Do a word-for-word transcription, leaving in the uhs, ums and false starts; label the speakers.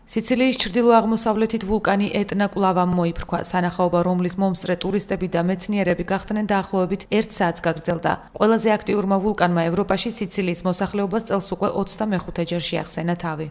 Speaker 1: სიცილიის ჩრდილო-აღმოსავლეთით ვულკანი ეტნა კვლავ მოიფრქვა, სანახაობა, რომლის მომსწრე ტურისტები და მეცნიერები გახდნენ დაახლოებით ერთ საათს გაგრძელდა. ყველაზე აქტიურმა ვულკანმა ევროპაში სიცილიის მოსახლეობას წელს უკვე ოცდამეხუთე ჯერ შეახსენა თავი.